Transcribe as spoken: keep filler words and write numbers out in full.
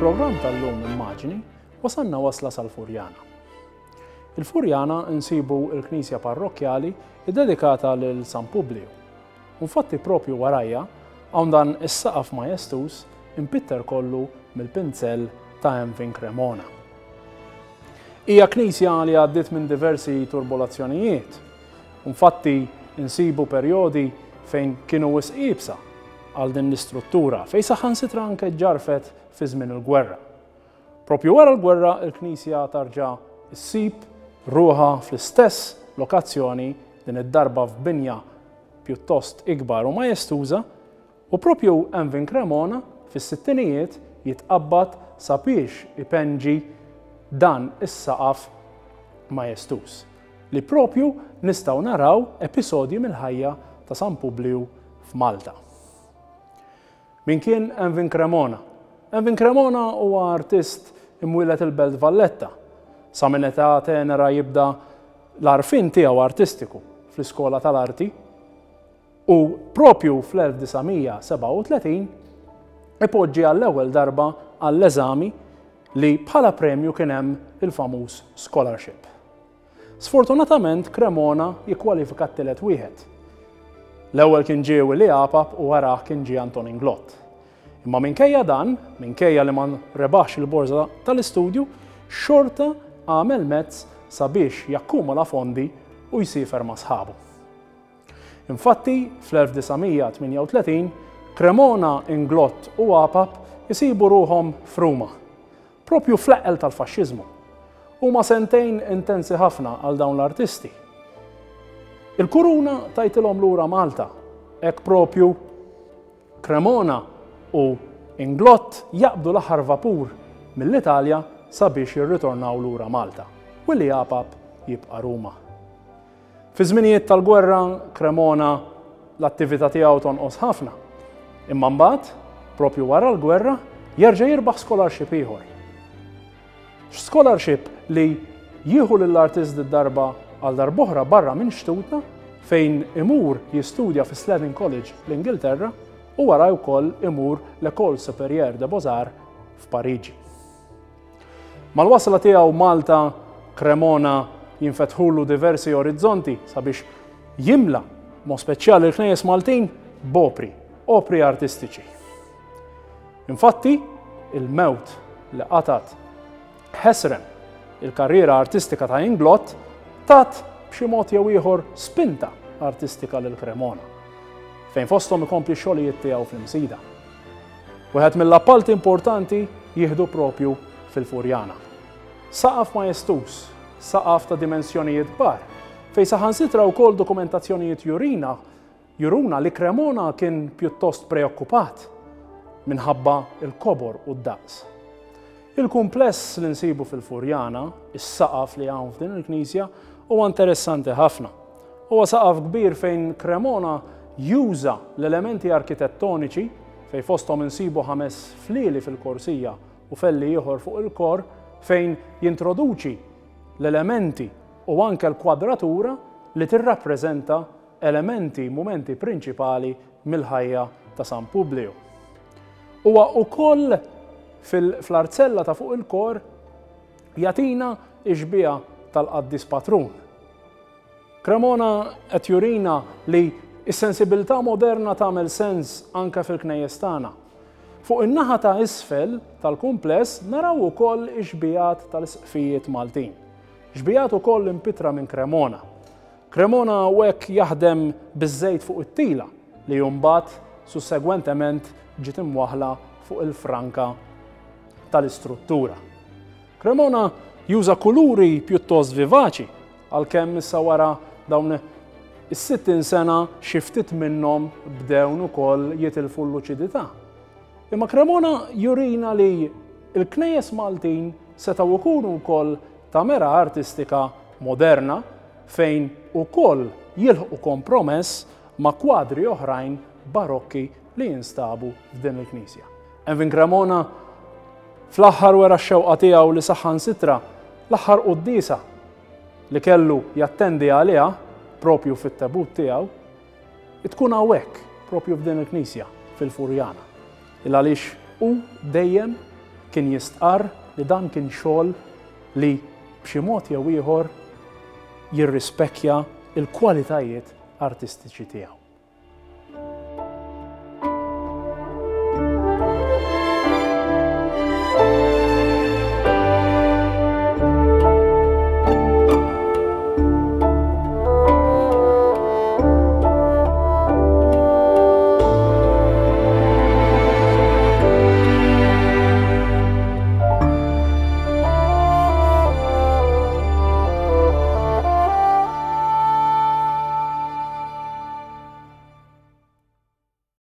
Fil-programm tal-lum Immaġni wasalna wasla sal-Furjana. Il-Furjana nsibu il-Knisja Parrokkjali iddedikata lil San Publiju. Infatti propju warajja hawn dan is-saqaf majestuż impitter kollu mill-pinzell ta' Emvin Cremona. Hija knisja li għaddiet minn diversi turbolazzjonijiet. Infatti insibu perjodi fejn kienu wisq iebsa għal din l-istruttura, fejn saħansitra anke ġarfet fi żmien il-gwerra. Propju wara l-gwerra il-knisja tarġa' ssib ruħha fl-istess lokazzjoni, din id-darba f'binja pjuttost ikbar u majestuża, u propju Emvin Cremona fis-sittinijiet jitqabbad sabiex ipenġi dan is-saqaf majestuż li propju nistgħu naraw episodji mill-ħajja ta' San Publiju f'Malta. Min kien Emvin Cremona? Emvin Cremona huwa artist imwieled il-Belt Valletta. Sa minn età tenera jibda l-għarfien tiegħu artistiku fl-iskola tal-arti u propju fl-elf disa' mija sebgħa u tletin ipoġġi għall-ewwel darba għall-eżami li bħala premju kien hemm il-famuż scholarship. Sfortunatament Cremona jikkwalifika t-tielet wieħed. L-ewwel kien ġie Willi Apap u warah kien ġie Anton Inglott. Imma minkejja dan, minkejja li ma rebaħx il-borża tal-istudju, xorta għamel mezz sabiex jakkumula fondi u jsifer ma' sħabu. Infatti, fl-elf disa' mija tmienja u tletin, Cremona, Inglott u Apap jisibu ruħhom f'Ruma, propju fl-eqqel tal-faxxiżmu. Huma sentejn intensi ħafna għal dawn l-artisti. Il-kuruna tajtilhom lura Malta, hekk propju Cremona u Inglott jaqbdu l-aħħar vapur mill-Italja sabiex jirritornaw lura Malta, u li Apap jibqa' Ruma. Fi żminijiet tal-gwerra, Cremona l-attività tiegħu tonqos ħafna. Imma mbagħad, propju wara l-gwerra, jerġa' jirbaħ scholarship ieħor. Scholarship li jieħu lill-artist darba għal darb'oħra barra minn xtutna, fejn imur jistudja fi Slavin College l-Ingilterra u wara wkoll imur l-École Supérieure de Beaux-Arts f'Pariġi. Mal-wasla tiegħu Malta, Cremona jinfetħulu diversi orizzonti sabiex jimla mod speċjali l-knejjes Maltin b'opri, opri artistiċi. Infatti, il-mewt li qatat ħesrem il-karriera artistika ta' Inglott tat b'xi mod jew ieħor spinta artistika lil Cremona, fejn fosthom ikompli x-xogħlijiet tiegħu fl-Imsida. Wieħed mill-appalti importanti jieħdu propju fil-Furjana. Saqaf majestuż, saqaf ta' dimensjonijiet kbar, fejn saħansitra wkoll dokumentazzjonijiet jurina, juruna li Cremona kien pjuttost preokkupat minħabba il-kobor u d-daqs. Il-kumpless li nsibu fil-Furjana, is-saqaf li hawn f'din il-knisja, huwa interessanti ħafna. Huwa saqaf kbir fejn Cremona juża l-elementi arkitettoniċi, fejn fosthom insibu ħames flieli fil-korsija u felli ieħor fuq il-kor, fejn jintroduċi l-elementi u anke l-kwadratura li tirrappreżenta elementi, mumenti prinċipali mill-ħajja ta' San Publiju. Huwa wkoll fil-, fl-arzella ta' fuq il-kor jatina ix-xbieha tal-qaddis patrun. Cremona qed jurina li s-sensibilità moderna tagħmel sens anke fil-knejjes tagħna. Fuq in-naħa ta' isfel tal-kumpless naraw ukoll ix-xbiehat tal-isqfijiet Maltin. Xbiehat ukoll impitra minn Cremona. Cremona hekk jaħdem biż-żejt fuq it-tila li mbagħad sussegwentement ġiet imwaħla fuq il-franka tal-istruttura. Cremona juża kuluri pjuttost vivaċi, għalkemm issa wara dawn is-sittin sena xi ftit minnhom bdew ukoll jitilfu l-luċidità. Imma Cremona jurina li l-knejjes Maltin setgħu jkunu wkoll ta' mera artistika moderna fejn ukoll jilħqu kompromess ma' kwadri oħrajn barokki li jinstabu f'din il-knisja. Emvin Cremona fl-aħħar wera x-xewqa tiegħu li saħansitra l-aħħar quddiesa li kellu jattendi għaliha propju fit-tebut tiegħu tkun hawnhekk propju f'din il-knisja fil-Furjana. Il għaliex hu dejjem Kien jistqarr li dan kien xogħol li b'xi mod jew ieħor jirrispekkja il-kwalitajiet artistiċi tiegħu.